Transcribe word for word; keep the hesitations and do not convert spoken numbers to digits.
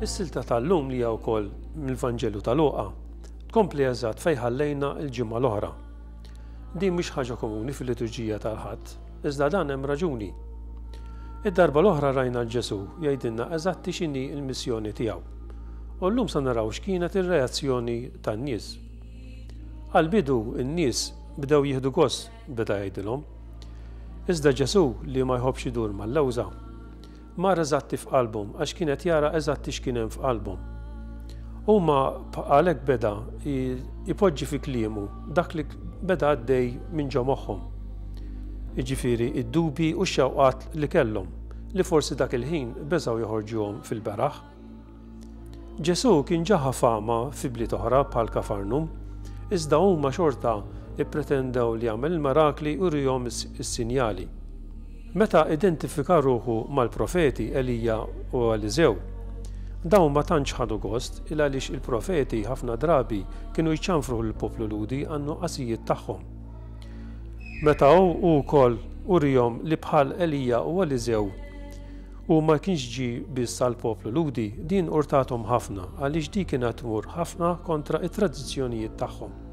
Is-silta tal-lum, li hija wkoll mill-Vanġelu ta' Luqa, tkompli eżatt fejn ħallejna l-ġimgħa l-oħra. Din mhix ħaġa komuni fil-liturġija tal-Ħadd, iżda dan hemm raġuni. Id-darba l-oħra rajna 'l Ġesù jgħidilna eżatti x'inhi l-missjoni tiegħu. U llum sa naraw x'kienet ir-reazzjoni tan-nies. Għall-bidu n-nies bdew jieħdu gost beda jgħidilhom. Iżda Ġesù, li ma jħobbx idur mal-lewża, mar eżatti f'qalbhom għax kienet jara eżatti x'kien hemm f'qalbhom. Huma għalhekk beda ipoġġi fi kliemu dak li beda għaddej minn ġo moħħhom. Jiġifieri id-dubi u x-xewqat li kellhom, li forsi dak il-ħin beżgħu joħorġuhom fil-beraħ. Ġesù kien ġa ħa fama fi bliet oħra bħal Kafarnum, iżda huma xorta ippretendew li jagħmel il-mirakli u jurihom is-sinjali. Meta identifika ruħu mal-profeti Elija u Eliżew, dawn ma tantx ħadu gost, il għaliex il-profeti ħafna drabi kienu jċanfru l-poplu Lhudi għan-nuqqasijiet tagħhom. Meta hu wkoll urihom li bħal Elija u Eliżew u ma kienx ġi biss għall-poplu Lhudi, din urtathom ħafna għaliex di kienet tmur ħafna kontra it-tradizzjonijiet tagħhom.